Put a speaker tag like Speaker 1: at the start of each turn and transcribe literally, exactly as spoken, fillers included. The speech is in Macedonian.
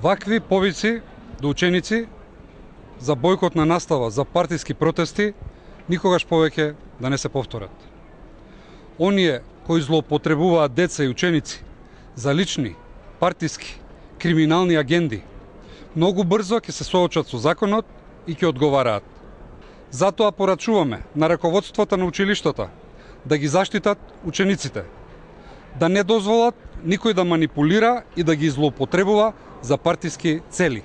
Speaker 1: Вакви повици до ученици за бојкот на настава, за партиски протести, никогаш повеќе да не се повторат. Оние кои злоупотребуваат деца и ученици за лични, партиски, криминални агенди, многу брзо ќе се соочат со законот и ќе одговараат. Затоа порачуваме на раководството на училиштата да ги заштитат учениците, да не дозволат никој да манипулира и да ги злоупотребува за партиски цели.